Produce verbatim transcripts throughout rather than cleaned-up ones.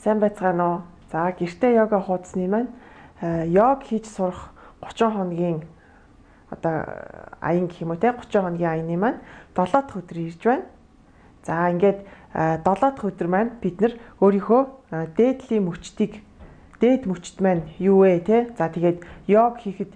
Сайн байцгаана уу? За гэртээ йога хуудасны маань йог хийж сурах гучин хоногийн одоо аян гэх юм уу те гучин хоногийн аяны маань долоо дахь өдөр ирж байна. За ингээд долоо дахь өдөр маань бид нар өөрийнхөө дээдлийн мөчтийг дээд мөчт маань юу вэ те? За тэгээд йог хийхэд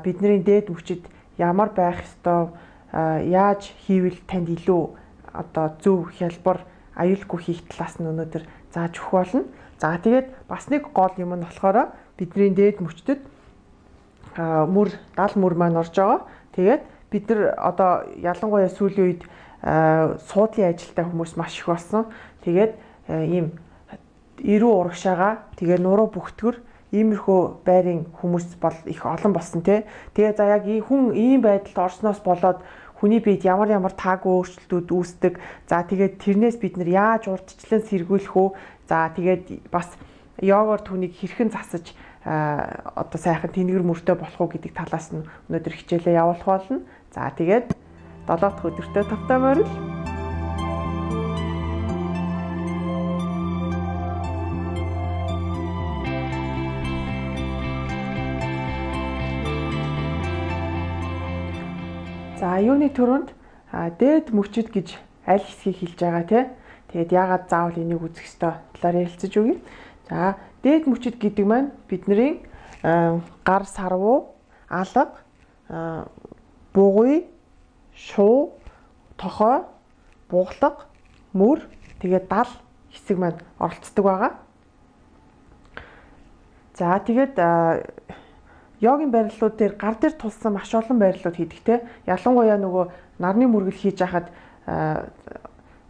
бидний дээд мөчид ямар байх ёстой, яаж хийвэл танд илүү одоо зөв хялбар аюулгүй хийх талаас нь өнөөдөр зааж өгөх болно. За тэгээд бас нэг гол юм нь болохоор бидний дээд мөчтөд мөр дал мөр маань орж байгаа. Тэгээд бид нар одоо ялангуяа сүүлийн үед суудлын ажилтай хүмүүс маш их болсон. Тэгээд ийм эрүү урагшаага тэгээ нуруу бүхтгөр иймэрхүү байрын хүмүүс бол их олон болсон тий. Тэгээ за яг хүн ийм байдалд орсноос болоод хүний биед ямар ямар таагүй өөрчлөлтүүд үүсдэг. За тэгээд тэрнээс бид нар яаж урдчлан сэргийлэх үү? За тэгээд бас йогоор түүнийг хэрхэн засаж одоо сайхан тэнгэр мөртөө болох уу гэдэг талаас нь өнөөдөр хичээлээ явуулах болно. За тэгээд долоо дахь өдөртөө тавтай морил. За юуны төрөнд дээд мөчөд гэж аль хэсгийг хэлж байгаа те. Тэгээд яагаад заавал энийг үзэх ёстой талаар ярилцаж өгье. За дээд мөчөд гэдэг маань бидний гар сарвуу, алга, бугуй, шуу, тохой, буглаг, мөр тэгээд дал хэсэг маань оролцдог байгаа. За тэгээд йогийн барилууд дээр гар дээр тулсан маш олон барилууд хийдэг те. Ялангуяа нөгөө нарны мөргөл хийж хахад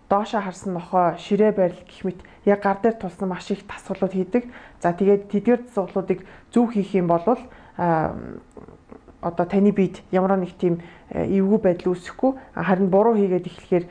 доошоо харсан нохой, ширээ барил гэх мэт яг гар дээр тулсан маш их дасгалууд хийдэг. За тэгээд тэдгээр дасгалуудыг зөв хийх юм бол одоо таны биед ямар нэг тийм эвгүй байдал үүсэхгүй харин буруу хийгээд эхлэхээр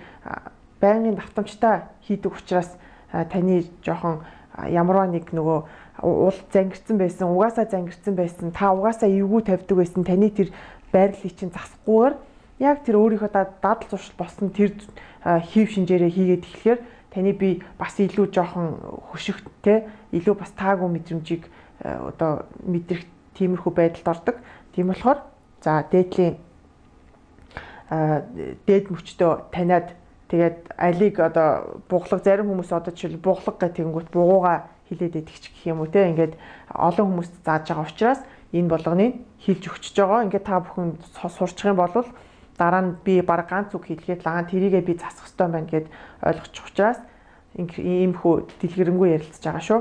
байнгын давтамжтай хийдэг учраас таны жоохон ямарваа нэг нөгөө уул зангирсан байсан, угаасаа зангирсан байсан, та угаасаа эвгүй тавьдаг байсан таны тэр байрлалыг чинь засахгүйгээр яг тэр өөрийнхөө дадал зуршил болсон тэр хийв шинжээрээ хийгээд эхлэхээр таны бие бас илүү жоохон хөшигтэй, илүү бас таагүй мэдрэмжийг одоо мэдрэх тиймэрхүү байдалд ордог. Тийм болохоор за дээдлийн дээд мөчтөө таниад тэгээд алиг одоо буглаг зарим хүмүүс одоо жишээл буглаг гэх тэгэнгүүт бугууга хилээд идэх гэх юм уу те ингээд олон хүмүүст зааж байгаа учраас энэ болгоныг хилж өгчөж байгаа. Ингээд та бүхэн сурчих юм бол дараа нь би баг ганц үг хэлгээд лаган тэрийгээ би засах хэрэгтэй байна гэд ойлгочих учраас иймхүү дэлгэрэнгүй ярилцж байгаа шүү.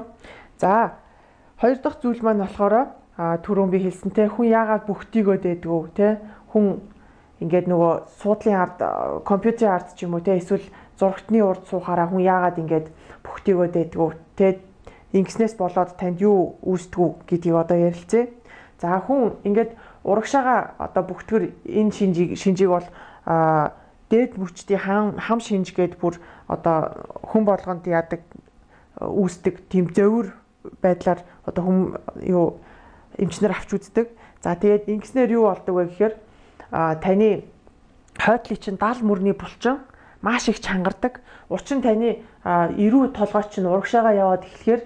За хоёр дахь зүйл маань болохоор түрүүн би хэлсэнтэй хүн яагаад бүхтийгөө дээдгүү те хүн ингээд нөгөө суудлын ард компьютерийн ард ч юм уу те эсвэл зурагтны урд суухаараа хүн яагаад ингээд бүхтийгөө дээдгүү те ингэснээс болоод танд юу үүсдэгүү гэдгийг одоо ярилцъя. За хүн ингээд урагшаага одоо бүхтгэр энэ шинжийг шинжийг бол дээд мөчтийн хам хам шинж гээд бүр одоо хүн болгонд яадаг үүсдэг тийм зовир байдлаар одоо хүм юу эмчнэр авч үздэг. За тэгээд ингэснээр юу болдог вэ гэхээр таны хойдлын чинь дал мөрний булчин маш их чангардаг. Учир нь таны эрүү толгой чинь урагшаага яваад эхлэхээр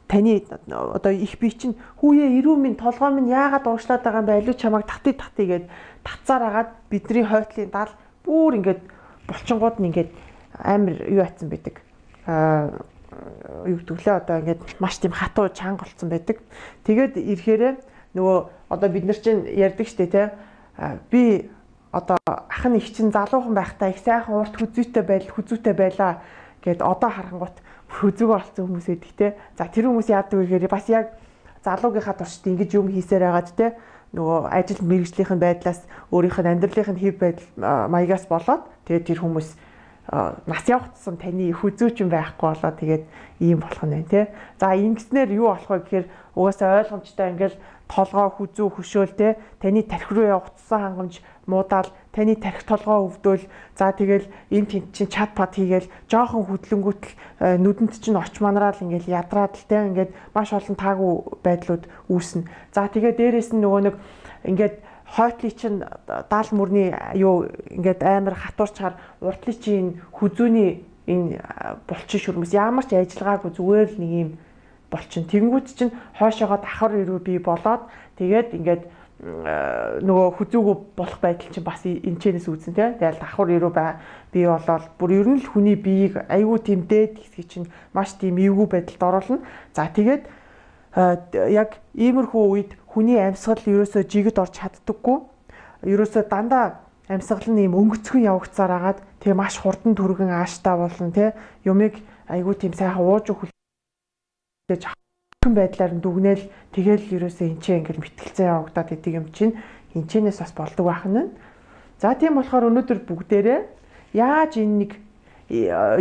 таны одоо их бие чинь хүүе эрүү минь толгой минь яагаад урагшлаад байгаа юм бэ? Алуу чамайг татъя татъя гэд татцаар агаад бидний хойдлын дал бүр ингээд булчингууд нь ингээд амар юу атсан байдаг. Аа юу гэдэг лээ одоо ингээд маш тийм хатуу чанга болсон байдаг. Тэгээд ирэхээрээ нөгөө одоо бид нар чинь ярьдаг штэ те би одоо ах нь их чинь залуухан байхдаа их сайхан урт хүзүүтэй байдал хүзүүтэй байлаа гэд одоо харангуут хүзүүг олцсон хүмүүс эдэг те. За тэр хүмүүс яадаг вэ гэхээр бас яг залуугийнхаа туршид ингэж юм хийсээр байгаад те нөгөө ажил мэргэжлийн байдлаас өөрийнх нь амьдралын хэв байдал маягаас болоод тэгээд тэр хүмүүс нас явагдсан таны хүзүүч юм байхгүй болоо тэгээд ийм болох нь байна те. За ингэснээр юу болох вэ гэхээр угаасаа ойлгомжтой ингээл толгой хүзүү хөшөөл те таны тархи руу явагдсан хангамж муудаал таны тархи толгой өвдөөл за тэгэл энэ тент чинь чат пат хийгээл жоохон хөдлөнгүүтэл нүдэнд чинь орч манраал ингээл ядраад л те ингээд маш олон таагүй байдлууд үүснэ. За тэгээ дээрэс нь нөгөө нэг ингээд хойтлын чинь даал мөрний юу ингээд амар хатуурчаар уртлын чинь хүзүүний энэ булчин шүрмэс ямар ч ажиллагаагүй зүгээр л нэг юм булчин. Тэнгүүд чинь хойшоогоо давхар ирүү бий болоод тэгээд ингээд нөгөө хүзүүгөө болох байдал чинь бас энэчнээс үүсэн тий. Тэгэл давхар ирүү бий болоод бүр ер нь л хүний биеийг айгүй тийм дээд хэсгийг чинь маш тийм эвгүй байдалд оруулна. За тэгээд яг иймэрхүү үед хүний амьсгал ерөөсөө жигд орж чаддаггүй. Ерөөсөө дандаа амьсгал нь ийм өнгөцгөн явагцаар агаад тэгээ маш хурдан түргэн ааштай болно тий. Юмыг айгүй тийм сайхан ууж хүлээж хүн байдлаар нь дүгнээл тэгэл ерөөсөө энчээ ингээл мэтгэлцээ явагдаад идэг юм чинь энчэнээс бас болдог байх нь. За тийм болохоор өнөөдөр бүгдээрээ яаж энэ нэг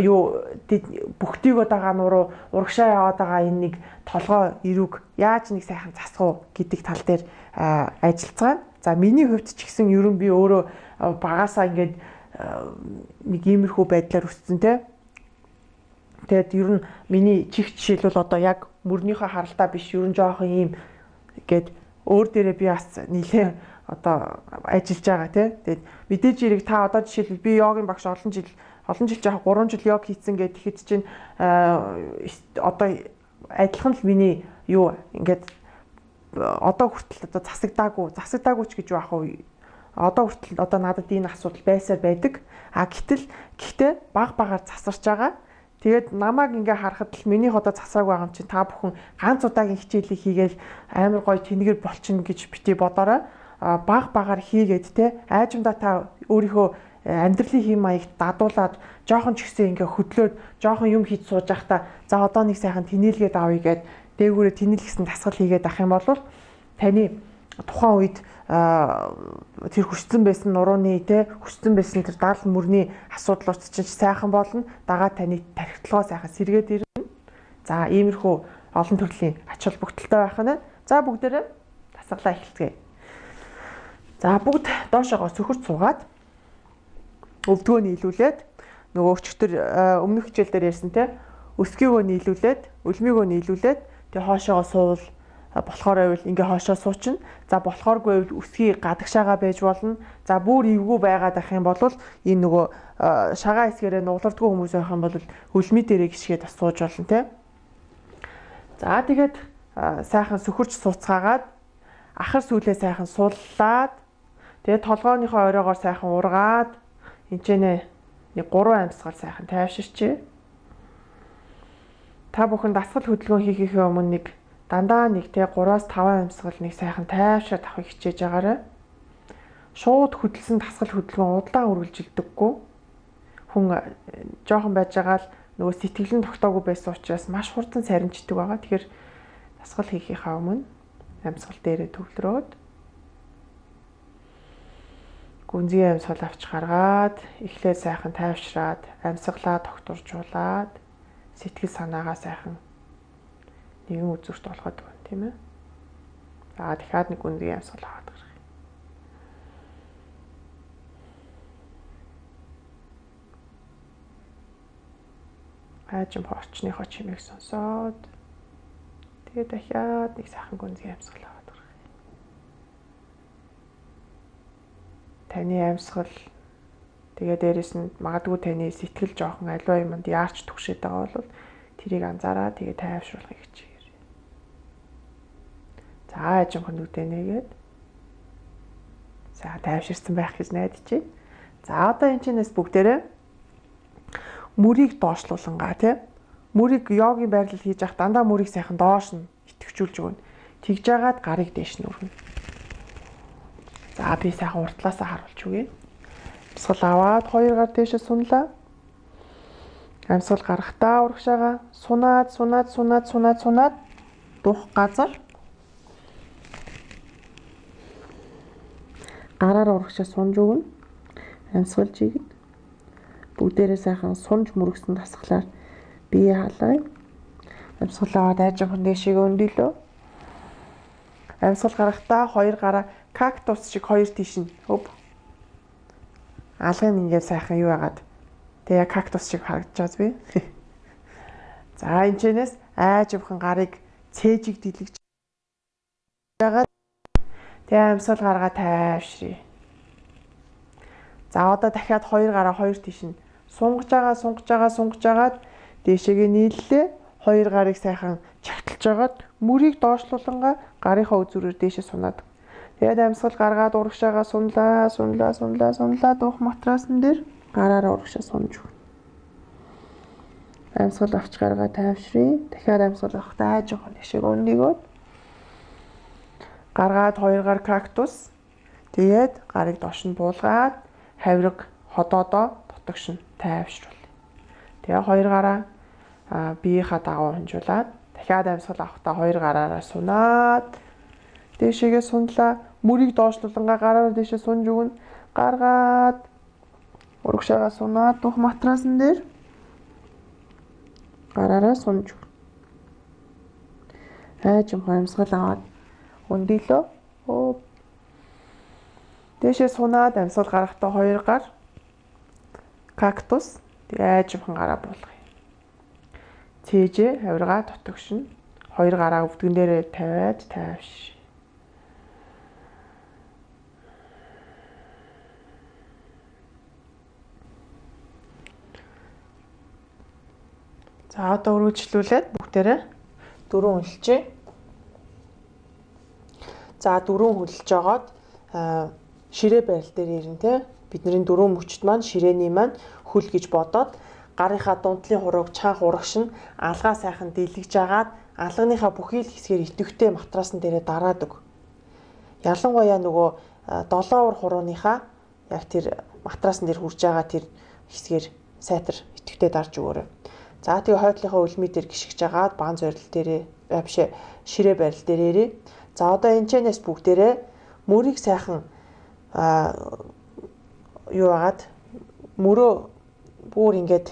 юу бүхтийг удаага нуруу урагшаа яваад байгаа энэ нэг толгой ирүүг яаж нэг сайхан засах уу гэдэг тал дээр ажиллацгаана. За миний хувьд ч гэсэн ер нь би өөрөө багасаа ингээд нэг иймэрхүү байдлаар өссөн те. Тэгээд ер нь миний чих жишээлбэл одоо яг мөрнийхөө харалтаа биш ер нь жоохон ийм гээд өөр дээрээ би бас нийлээ одоо ажиллаж байгаа те. Тэгээд мэдээж хэрэг та одоо жишээлбэл би йогийн багш олон жил олон жил жаах гурван жил йог хийцэн гэхэд тэгэхэд чинь одоо адилхан л миний юу ингээд одоо хүртэл одоо засагдаагүй засагдаагүй ч гэж байх уу одоо хүртэл одоо надад энэ асуудал байсаар байдаг. А гэтэл гэхдээ баг багаар засарч байгаа. Тэгээд намайг ингээ харахад л миний одоо засааг байгаа юм чинь та бүхэн ганц удаагийн хичээлийг хийгээл амар гоё тэнгэр болчихно гэж бити бодорой. Баг багаар хийгээд те айжмдаа та өөрийнхөө амьдралын хэм маягт дадуулаад жоохон ч ихсэн ингээ хөдлөөд жоохон юм хийж сууж байхдаа за одоо нэг сайхан тэнээлгээд авъя гэд дээгүүрээ тэнэлгэсэн дасгал хийгээд ах юм бол таны тухайн үед тэр хүчсэн байсан нурууны те хүчсэн байсан тэр даал мөрний асуудлууд чинь сайхан болно. Дагаад таны тархитлагоо сайхан сэргээд ирнэ. За иймэрхүү олон төрлийн ач холбогдолтой байх нь. За бүгдээрээ дасгалаа эхэлцгээе. За бүгд доошоогоо сөхөрт суугаад өвдгөө нийлүүлээд нөгөө өчтөр өмнөх хичээл дээр ярьсан те өсгийгөө нийлүүлээд өлмийгөө нийлүүлээд тэгээ хоошоогоо суувал болохоор байвал ингээ хоошоо суучна. За болохооргүй байвал өсгий гадагшаага байж болно. За бүр эвгүй байгаад ах юм бол энэ нөгөө шагаа хэсгээрээ нуглардгүй хүмүүс байх юм бол хөлмий дээрээ гიშгээд бас сууж болно те. За тэгээд сайхан сөхөрч сууцгаагаад ахар сүүлээ сайхан суллаад тэгээд толгооныхоо оройгоор сайхан ургаад энчэнэ нэг гурван амьсгал сайхан тайвширчээ. Та бүхэн дасгал хөдөлгөөн хийхээ өмнө нэг дандаа нэг те гураас таван амьсгал нэг сайхан тайвшраад авахыг хичээж байгаарай. Шууд хөдөлсөн дасгал хөдөлгөөн удаан үргэлжилдэггүй. Хүн жоохон байж байгаа л нөгөө сэтгэлэн тогтоогүй байсан учраас маш хурдан сарниждаг байгаа. Тэгэхээр дасгал хийхийнхаа өмнө амьсгал дээрээ төвлөрөөд гүнзгий амьсгал авч гаргаад эхлээд сайхан тайвшраад амьсгалаа тогтворжуулаад сэтгэл санаагаа сайхан нэгэн үзүүрт болгоод байна тийм ээ. За дахиад нэг гүнзгий амьсгал аваад гарах. Хажим хорчныхоо чимээг сонсоод тэгээ дахиад нэг сайхан гүнзгий амьсгал аваад гарах. Таны амьсгал тэгээ дээрэс нь магадгүй таны сэтгэл жоохон аливаа юмд яарч түгшээд байгаа бол тэрийг анзаараа тэгээ тайвшруулахыг хичээгээрэй. За ажимхан нүдэ нэгээд за тайвширсан байх гэж найдаж байна. За одоо энэ чинээс бүгдээрээ мөрийг доошлуулангаа тий. Мөрийг йогийн байрлал хийж явах дандаа мөрийг сайхан доош нь итгэвчүүлж өгнө. Тэгж жагаад гарыг дээш нь өргөнө. За би сайхан уртлаасаа харуулж өгье. Амьсгал аваад хоёр гар дээшээ сунлаа. Амьсгал гарахтаа урагшаага сунаад сунаад сунаад сунаад сунаад дух газар гараар урагшаа сунж өгнө. Амьсгал жигэд бүгдээрээ сайхан сунж мөргсөн дасгалаар бие халаа. Амьсгал аваад айжхан дээшээ өндөлөө. Амьсгал гарахтаа хоёр гараа кактус шиг хоёр тийш нь өв. Алгын ингээд сайхан юу яагаад тэгээ кактус шиг харагдаж байгаа би. За энэчнээс айжхан гарыг цээжиг дэлгэж байгаа. Тэгээ амьсгал гаргаа тайвшрий. За одоо дахиад хоёр гараа хоёр тийш нь Сунгаж байгаа, сунгаж байгаа, сунгаж агаад дээшээгээ нийллээ. Хоёр гарыг сайхан чагталж агаад мөрийг доошлуулангаа гарынхаа үзүүрээр дээшээ сунаад. Тэгээд амьсгал гаргаад урагшаага сунлаа, сунлаа, сунлаа, сунлаа дуух матрасан дээр гараараа урагшаа сунж өгнө. Амьсгал авч гаргаа тайвшрын. Дахиад амьсгал авахтаа жоохон дэшег өндөгөөд гаргаад хоёр гар кактус. Тэгээд гарыг доош нь буулгаад хавирга ходоодоо дотогш нь тайвшруулъя. Тэгээ хоёр гараа биеийнхаа дагуу хонжуулаад дахиад амьсгал авахтаа хоёр гараараа сунаад дээшээгээ сунлаа. Мөрийг доошлуулангаа гараараа дээшээ сунж өгнө. Гаргаад урагшаага сунаад дух матрасан дээр гараараа сунж өгнө. Айжим амьсгал аваад өндөлөө. Оо. Дээшээ сунаад амьсгал гарахтаа хоёр гар кактус айжимхан гараа буулгая. Цээжээ хавиргаа дотогшно. Хоёр гараа өвдгөн дээрээ тавиад тайвш. За одоо үргэлжлүүлээд бүгдээрээ дөрөв хөлчээ. За дөрөв хөлж жагаад ширээ байрал дээр ирнэ те. Бидний дөрөв мөчт маань ширээний маань хөл гэж бодоод гарынхаа дундлын хурууг чанх урагш нь алгаа сайхан дэлгэж агаад алганыхаа бүхий л хэсгээр идэвхтэй матрасан дээрээ дараад өг. Ялангуяа нөгөө долоовор хурууныхаа яг тэр матрасан дээр хурж байгаа тэр хэсгээр сайтар идэвхтэй дарж өгөөрэй. За тэгээ хойдлынхаа үлмий дээр гიშгэж агаад баан зорил дээрээ бишээ ширээ байрал дээр ирээ. За одоо энэ чэнэс бүгдээрээ мөрийг сайхан а юу агаад мөрөө бүр ингээд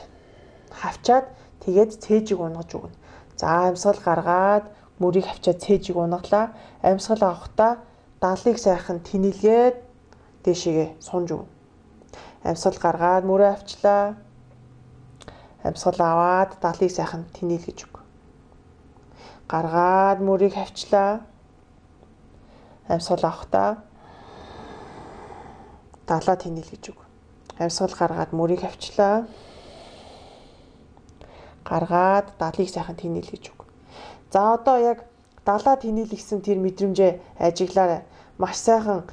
хавчаад тэгээд цээжиг унгаж өгнө. За амьсгал гаргаад мөрийг хавчаад цээжиг унгалаа. Амьсгал авахтаа даалыг сайхан тэнэлгээд дээшээгээ сунж өгнө. Амьсгал гаргаад мөрөө авчлаа. Амьсгал аваад даалыг сайхан тэнэлгэж өг. Гаргаад мөрийг хавчлаа. Амьсгал авахтаа даалаа тэнэлгэж өг. Амьсгал гаргаад мөрийг хавчлаа. Гаргаад даалыг сайхан тэнэлгэж өг. За одоо яг даалаа тэнэлгсэн тэр мэдрэмжээ ажиглаарай. Маш сайхан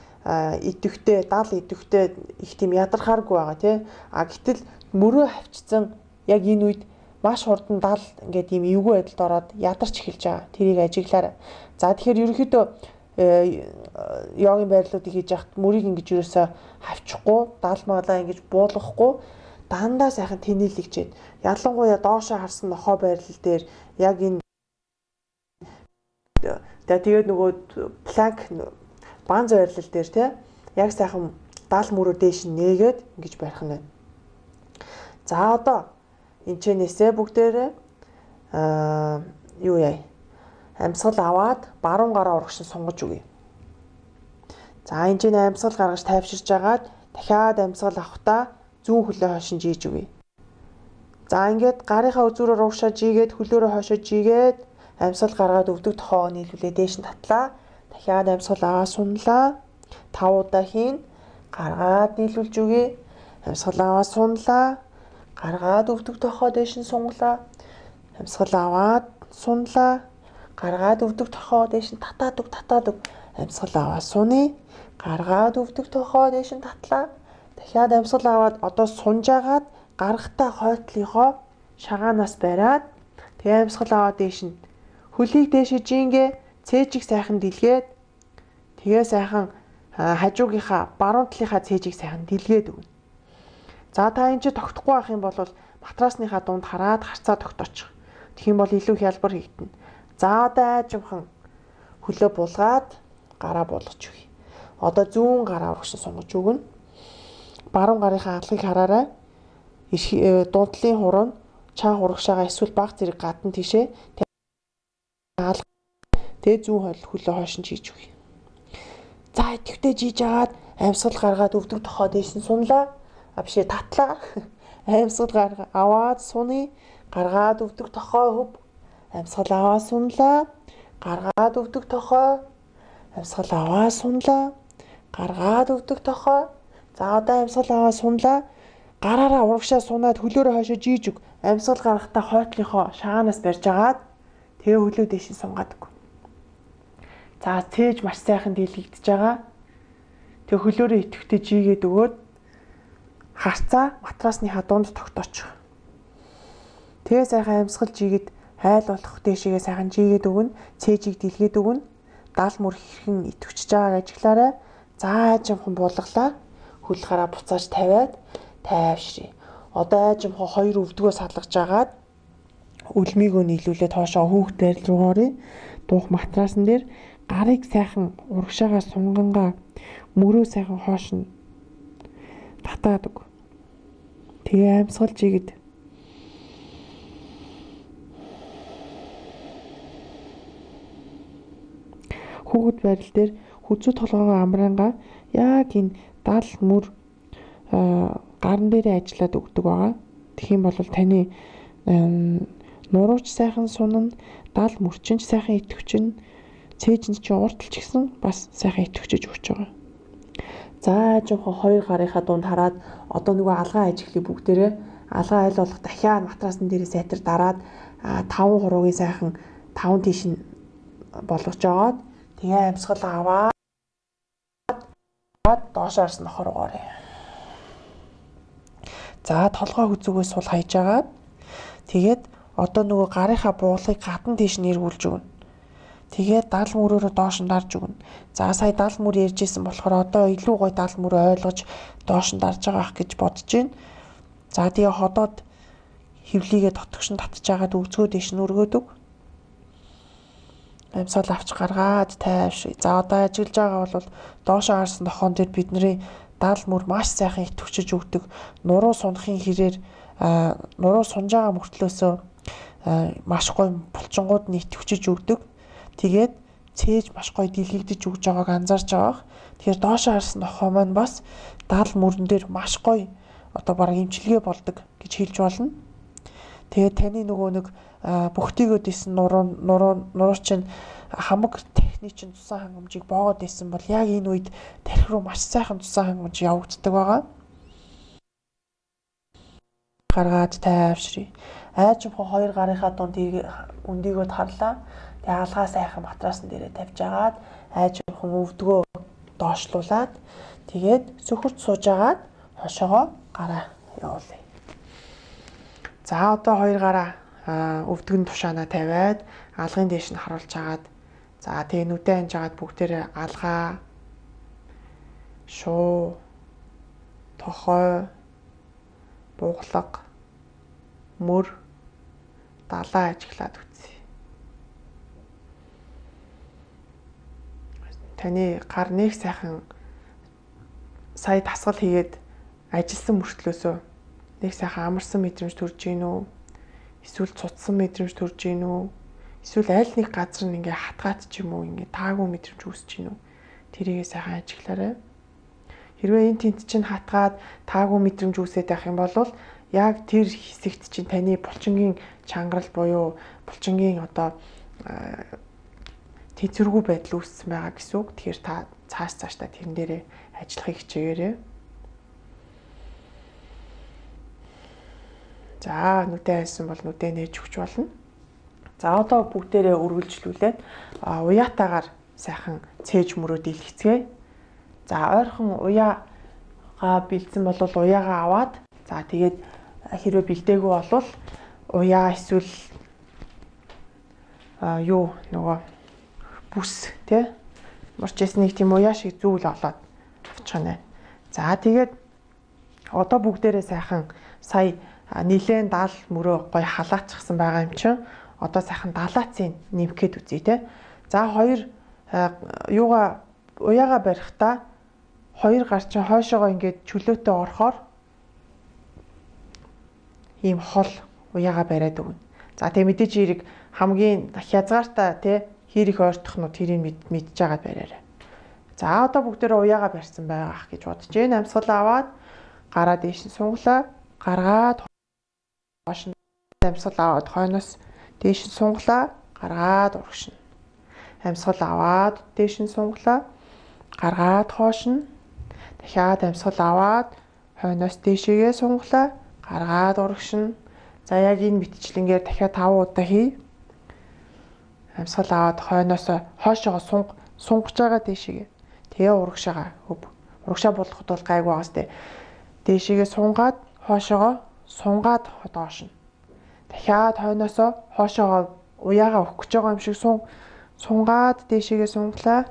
идэвхтэй, даал идэвхтэй их тийм ядархааргүй байгаа тий. А гэтэл мөрөө хавчсан яг энэ үед маш хурдан даал ингээд ийм эвгүй байдалд ороод ядарч эхэлж байгаа. Тэрийг ажиглаарай. За тэгэхээр ерөнхийдөө йогийн байрлалуудыг хийж яхад мөрийг ингэж юусаа хавчихгүй, даалмаалаа ингэж буулгахгүй дандаа сайхан тэнэлэгчээд ялангуяа доошоо харсан нохоо байрлал дээр яг энэ тэгээд нөгөө планк баан байрлал дээр тий яг сайхан даал мөрөө дээш нээгээд ингэж барих нь. За одоо энэ чэнэсээ бүгдээрээ аа юу яа амьсгал аваад баруун гараа урагшин сунгаж өгье. За энэ чинь амьсгал гаргаж тайвширж агаад дахиад амьсгал авахдаа зүүн хөлөө хойшин жийж өгье. За ингээд гарынхаа үзүүрээр урагшаа жигээд хөлөөрөө хойшоо жигээд амьсгал гаргаад өвдөг тохоо нийлүүлээ дээш нь татлаа. Дахиад амьсгал аваа сунлаа. Тав удаа хийн. Гаргаад нийлүүлж өгье. Амьсгал аваа сунлаа. Гаргаад өвдөг тохоо дээш нь сунглаа. Амьсгал аваад сунлаа. Гаргаад өвдөг тохоо дээш нь татаад өг татаад өг. Амьсгал аваа суны. Гаргаад өвдөг тохоо дээш нь татлаа. Дахиад амьсгал аваад одоо сунж агаад гаргахтаа хойтлынхоо шагаанаас бариад тэгээ амьсгал аваад дээш нь хөлийг дээшээ жингээ цээжиг сайхан дэлгээд тэгээ сайхан хажуугийнхаа баруун талынхаа цээжиг сайхан дэлгээд өгнө. За та энэ ч тогтохгүй байх юм бол матрасныхаа дунд хараад харцаа тогтоочих. Тэгэх юм бол илүү хялбар хийгдэнэ. За одоо айжимхан хөлөө булгаад гараа буулгаж өгье. Одоо зүүн гараа урагшин сунгаж өгнө. Баруун гарынхаа алгыг хараарай. Дундлын хуруу чанх урагшаага эсвэл баг зэрэг гадна тишээ тэгээ зүүн хол хөлөө хойшин хийж өгье. За идэвхтэй жийж агаад амьсгал гаргаад өвдөг тохоо дээш нь сунлаа. А бишээ татлаа. Амьсгал гаргаа аваад суны. Гаргаад өвдөг тохоо хөв. Амьсгал аваа сунлаа. Гаргаад өвдөг тохоо. Амьсгал аваа сунлаа. Гаргаад өвдөг тохоо. За одоо амьсгал аваа сунлаа. гараараа урагшаа сунаад хөлөөрөө хойшоо жийж өг. Амьсгал гаргахтаа хойтлынхоо шагаанаас барьж агаад тэгээ хөлөө дэш нь сунгаад өг. За цээж маш сайхан дийлэгдэж байгаа. Тэгээ хөлөөрөө идэвхтэй жийгээд өгөөд харцаа матрасныхаа дунд тогтоочих. Тэгээ сайхан амьсгал жийгээд хайл болох дэшигээ сайхан жийгээд өгнө. Цээжийг дийлгээд өгнө. Дал мөр хэрхэн идэвхчихэж байгааг ажиглаарай. За аажимхан буулгалаа. Хөл гараа буцааж тавиад тайвшрий. Одоо аажимхан хоёр өвдгөө салгаж агаад үлмийгөө нийлүүлээд хоошоо хүүхд байрал руу оръё. Дуух матрасан дээр гарыг сайхан урагшаагаа сунгангаа мөрөө сайхан хоош нь татаад өг. Тэгээ амьсгал жигэд хүүхд байрал дээр хүзүү толгоогоо амраангаа яг энэ дал мөр гарн дээрээ ажиллаад өгдөг байгаа. Тэгэх юм бол таны нурууч сайхан сунна, дал мөрчинч сайхан идэвхчин, цээж нь чинь урталч гэсэн бас сайхан идэвхчиж өгч байгаа. За жоохон хоёр гарынхаа дунд хараад одоо нөгөө алгаа ажиглыг бүгдээрээ алгаа айл болох дахиад матрасан дээрээ сайтар дараад таван хуруугийн сайхан таван тийш нь болгож жагаад тэгээ амьсгал аваад доош арсан нохор орё. За толгой хүзүүгээс сул хайж агаад тэгээд одоо нөгөө гарынхаа буулгыг гадна тийш нь эргүүлж өгнө. Тэгээд дал мөрөөрөө доош нь дарж өгнө. За сая дал мөр ярьжсэн болохоор одоо илүү гой дал мөрөө ойлгож доош нь дарж байгаа ах гэж бодож байна. За тэгээ ходоод хөвлийгээ дотгошин татж агаад өвцгөө дэш нь өргөөд өг. Амьсгал авч гаргаад тайвшрий. За одоо ажиглаж байгаа бол доошоо харсан тохон дээр бидний дал мөр маш сайхан идэвхчиж өгдөг. Нуруу сунахын хэрээр нуруу сунж байгаа мөртлөөсөө маш гоё булчингууд нь идэвхчиж өгдөг. Тэгээд цээж маш гоё дийлэгдэж өгж байгааг анзаарч байгаа. Тэгэхээр доошоо харсан тохоо маань бас дал мөрөн дээр маш гоё одоо бараг имчилгээ болдог гэж хэлж болно. Тэгээд таны нөгөө нэг бүхтийгөө дэсэн нуруу нуруу нуруу чинь хамаг техник чинь тусан хангамжийг боогод дэсэн бол яг энэ үед тархи руу маш сайхан тусан хангамж явагддаг байгаа. Гаргаад тайвшрий. Аажимхан хоёр гарынхаа дунд өндийгөө тарлаа. Тэгээ алгаа сайхан матрасан дээрээ тавьж агаад аажимхан өвдгөө доошлуулад тэгээд сөхөрт сууж агаад хошоогоо гараа явуулъя. За одоо хоёр гараа өвдгөн тушаанаа тавиад алгын дээш нь харуулж агаад за тэгээ нүдэн анж агаад бүгдээрээ алгаа, шуу, тохой, буглаг, мөр, далаа ажиглаад үтсэ. Таны гар нэг сайхан сая тасгал хийгээд ажилласан мөртлөөсөө нэг сайхан амарсан мэдрэмж төрж гин үү? Эсвэл цуцсан мэдрэмж төрж гин үү? Эсвэл аль нэг газар нь ингээ хатгаад ч юм уу ингээ таагүй мэдрэмж үүсэж гин үү? Тэрийгээ сайхан ажиглаарай. Хэрвээ энэ тент чинь хатгаад таагүй мэдрэмж үүсээд байх юм бол яг тэр хэсэгт чинь таны булчингийн чангарал буюу булчингийн одоо тэнцвэргүй байдал үүссэн байгаа гэсэн үг. Тэгэхээр та цааш цаашдаа тэрэн дээрээ ажиллахыг хичээгээрэй. За нүдэн хайсан бол нүдэн нээж өгч болно. За одоо бүгдээрээ үргэлжлүүлээд уяатаагаар сайхан цээж мөрөө дийлгэцгээе. За ойрхон уяагаа бэлдсэн бол уяагаа аваад за тэгээд хэрвээ бэлдээгүй бол уяа эсвэл юу нөгөө бүс тий морчээс нэг тийм уяа шиг зүйл олоод авчих нь. За тэгээд одоо бүгдээрээ сайхан сая нилээн дал мөрөө гой халаацсан байгаа юм чинь одоо сайхан далаацын нэмхэд үзье те. За хоёр юугаа уяага барихтаа хоёр гар чинь хойшоогоо ингээд чөлөөтэй орохоор ийм хол уяага бариад өгнө. За тэгээ мэдээж хэрэг хамгийн хязгаартай те хэр их ойртох нь тэрийг мэдж байгаад бариарай. За одоо бүгдээрээ уяага барьсан байгаах гэж бодож байна. Амьсгал аваад гараа дээш нь сунглаа. Гаргаад хоош нь амьсгал аваад хойноос дээш нь сунглаа. Гаргаад урагшна. Амьсгал аваад дээш нь сунглаа. Гаргаад хоош нь. Дахиад амьсгал аваад хойноос дээшээгээ сунгалаа. Гаргаад урагшина. За яг энэ мэтчлэнгээр дахиад таван удаа хий. Амьсгал аваад хойноос хойшоогоо сунг сунгаж байгаа дээшээгээ. Тэгээ урагшаага хөв. Урагшаа болгоход бол гайг байгаас тээ. Дээшээгээ сунгаад хойшоогоо сунгаад доошно. Дахиад хойноос хойшоогоо уяагаа өгөх гэж байгаа юм шиг сун сунгаад дээшээгээ сунглаа.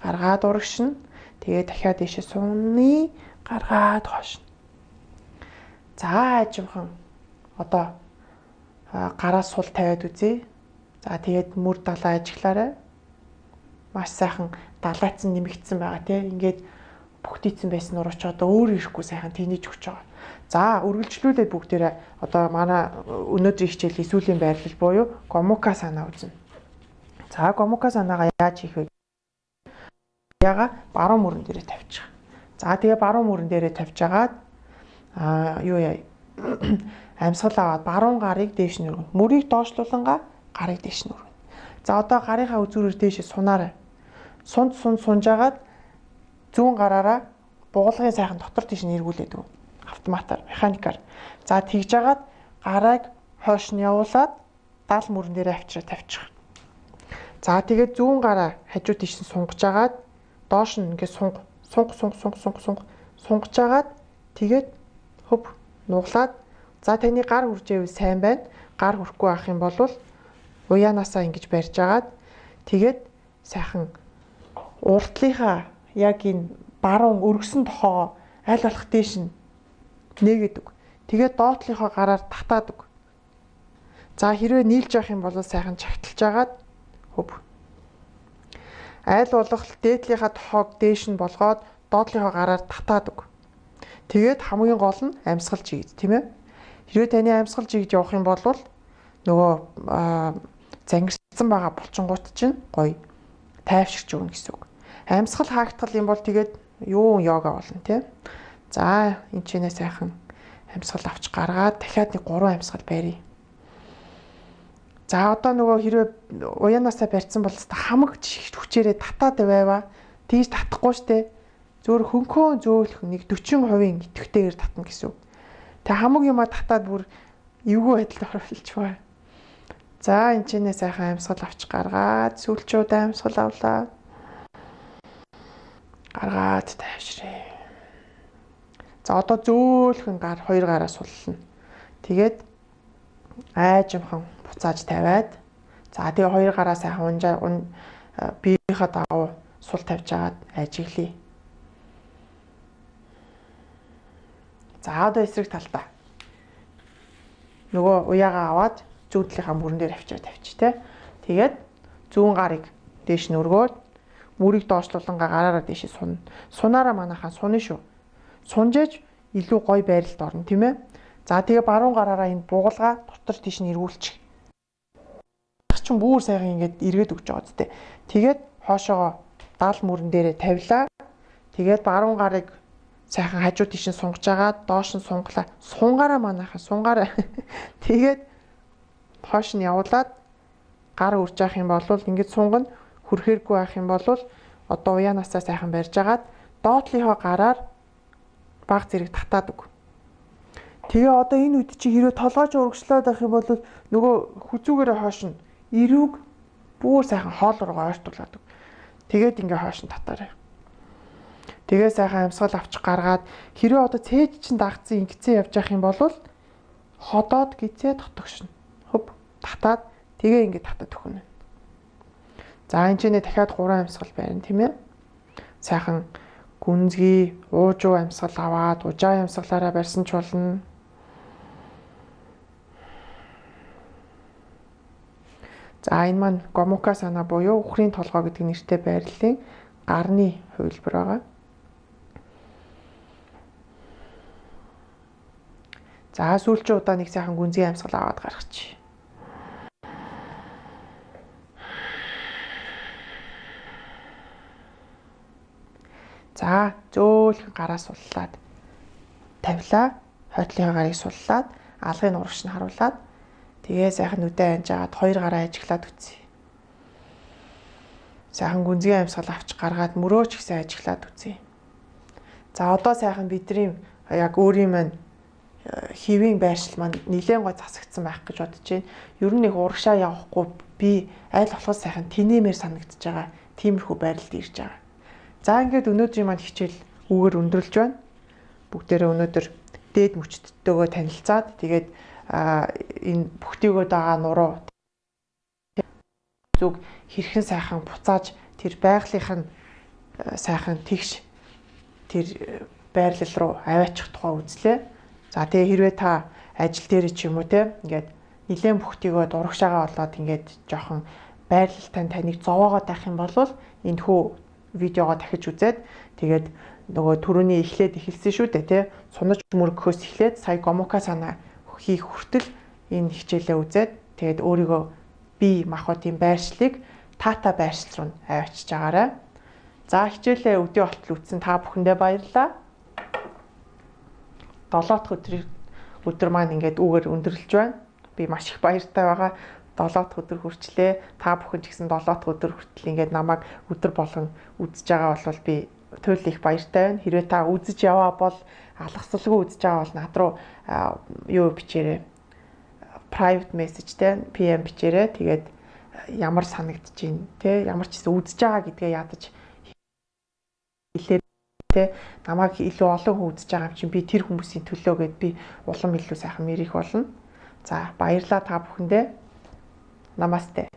Гаргаад урагшина. Тэгээ дахиад дээшээ сунны. Гаргаад хойшно. За ажимхан одоо гараа сул тавиад үзье. За тэгээд мөр далаа ажиглаарай. Маш сайхан далайцсан нэмэгдсэн байгаа тийм. Ингээд бүгдийцэн байсан нурууч одоо өөр ирэхгүй сайхан тэнийж өгч байгаа. За үргэлжлүүлээд бүгдээрээ одоо манай өнөөдрийн хичээлийн сүүлийн байрлал буюу гомука санаа үзнэ. За гомука санаагаа яаж хийх вэ? Яга баруун мөрөн дээрээ тавьчих. За тэгээ баруун мөрөн дээрээ тавьжгаад аа юу яа амьсгал аваад баруун гарыг дээш нь өргөн. Мөрийг доошлуулангаа гарыг дээш нь өргөн. За одоо гарынхаа үзүүрээр дээшээ сунаарай. Сунд сунд сунжагаад зүүн гараараа бугуулгын сайхан дотор тийш нь эргүүлээд өг. Автоматар, механикаар. За тэгж жагаад гарыг хойш нь явуулаад дал мөрөн дээрээ авчираа тавьчих. За тэгээд зүүн гараа хажуу тийш нь сунгаж жагаад доош нь ингээд сунг сунг сунг сунг сунг сунг сунгаж жагаад тэгээд хөв нуглаад за таны гар хүрж байвал сайн байна. Гар хүрэхгүй байх юм бол уяанаасаа ингэж барьж агаад тэгээд сайхан уртлынхаа яг энэ баруун өргөсөн тохоо аль болох дээш нь нээгээд өг. Тэгээд доотлынхоо гараар татаад өг. За хэрвээ нийлж явах юм бол сайхан чагталж агаад хөв. Аль болох дээдлийнхаа тохоог дээш нь болгоод доотлынхоо гараар татаад өг. Тэгээд хамгийн гол нь амьсгал жигд тийм ээ. Хэрвээ таны амьсгал жигд явах юм бол нөгөө зангирсан байгаа булчингууд чинь гоё тайвширч өгнө гэсэн үг. Амьсгал хаагдтал юм бол тэгээд юу йога болно тийм. За энэ ч нэ сайхан амьсгал авч гаргаад дахиад нэг гурван амьсгал барья. За одоо нөгөө хэрвээ уяанаасаа барьсан бол хамаг хүчээрээ татаад байваа. Тийж татахгүй штэ. Зөөр хөнхөө зөөлөх нэг дөрвөн хувийн идэвхтэйгээр татна гэсэн үг. Тэг хамаг юмаа татаад бүр эвгүй байдалд оруулж бай. За энэ ч нэ сайхан амьсгал авч гаргаад сүүлчүүд амьсгал авлаа. Гаргаад тайвшрээ. За одоо зөөлхөн гар хоёр гараа суллана. Тэгээд айжимхан буцааж тавиад за тэгээ хоёр гараа сайхан унжаа биеийнхээ дагуу сул тавьж агаад ажиглая. За одоо эсрэг талтаа. Нөгөө уяагаа аваад зүүн талынхаа мөрөн дээр авчираа тавьчих те. Тэгээд зүүн гарыг дээш нь өргөөд мөрийг доошлуулангаа гараараа дээшээ сунна. Сунаараа манайхаа суны шүү. Сунжээж илүү гоё байралд орно тийм ээ. За тэгээ баруун гараараа энэ бугуулга дотор тийш нь эргүүлчих. Чин бүр сайхан ингээд эргээд өгч байгаа зү. Тэгээд хоошоогоо дал мөрөн дээрээ тавилаа. Тэгээд баруун гарыг сайхан хажуу тийш нь сунгаж агаад доош нь сунглаа. Сунгаараа манайхаа сунгаараа. Тэгээд хоош нь явуулаад гар үрж явах юм бол ингээд сунгана хүрхээргүй байх юм бол одоо уяанаасаа сайхан барьж агаад доотлынхоо гараар баг зэрэг татаад өг. Тэгээ одоо энэ үед чи хэрвээ толгойч урагшлаад байх юм бол нөгөө хүзүүгээрээ хоош нь эрүүг бүр сайхан хоол руугаа ойртуулад өг. Тэгээд ингээ хоош нь татаарай. Тэгээ сайхан амьсгал авч гаргаад хэрвээ одоо цээж чин дагцсан ингэцэн явж явах юм бол ходоод гизээ дотогшно. Хөв татаад тэгээ ингээ татаад өгнө. За энэ ч нэ дахиад гурван амьсгал байна тийм ээ. Сайхан гүнзгий, уужуу амьсгал аваад ужаа амьсгалаараа барьсан ч болно. За энэ маань гомука санаа буюу үхрийн толгой гэдэг нэртэй байрлалын гарны хувилбар байгаа. За сүүлчийн удаа нэг сайхан гүнзгий амьсгал аваад гаргачих. За зөөлхөн гараа суллаад тавилаа. Хойтлынхаа гарыг суллаад алгын урагш нь харуулад тэгээ сайхан нүдэ анжаагаад хоёр гараа ажиглаад үтсэ. Сайхан гүнзгий амьсгал авч гаргаад мөрөөч гэсэн ажиглаад үтсэ. За одоо сайхан бидний яг өөрийн маань хэвийн байршил маань нэлээд гой засагдсан байх гэж бодож байна. Ер нь нэг урагшаа явахгүй би аль болох сайхан тэнэмээр санагдаж байгаа. Тиймэрхүү байрлалд ирж байгаа. За ингээд өнөөдрийн маань хичээл үгээр өндөрлж байна. Бүгдээрээ өнөөдөр дээд мөчтдтэйгөө танилцаад тэгээд энэ бүхтийгөө дагаа нуруу зүг хэрхэн сайхан буцааж тэр байгалийнх нь сайхан тэгш тэр байрлал руу аваачих тухай үзлээ. За тэгээ хэрвээ та ажил дээр ч юм уу те ингээд нилээн бүхтийгөө дурагшаагаа болоод ингээд жоохон байрлалтай таныг зовоогоо тах юм бол энэ хүү видеогоо дахиж үзээд тэгээд нөгөө түрүүний эхлээд эхэлсэн шүү дээ те сунаж мөргөхөөс эхлээд сая гомока санаа хийх хүртэл энэ хичээлээ үзээд тэгээд өөрийгөө бие махбодын байршлыг тата байршил руу аваачиж байгаарай. За хичээлээ өдөө болтол үзсэн та бүхэндээ баярлалаа. долоо дахь өдрийн өдөр маань ингээд үгээр өндөрлөж байна. Би маш их баяртай байгаа. долоо дахь өдөр хүрчлээ. Та бүхэн ч гэсэн долоо дахь өдөр хүртэл ингээд намайг өдөр болгон үзэж байгаа бол би туйл их баяртай байна. Хэрвээ та үзэж яваа бол алгасалгүй үзэж байгаа бол над руу юу бичээрэй. Private message тэ пи эм бичээрэй. Тэгээд ямар санагдаж байна те ямар ч гэсэн үзэж байгаа гэдгээ ядаж хэлээ те намайг илүү олон хүн үзэж байгаа юм чинь би тэр хүмүүсийн төлөө гэд би улам илүү сайхан мэрих болно. За баярлалаа та бүхэндээ. Намасте.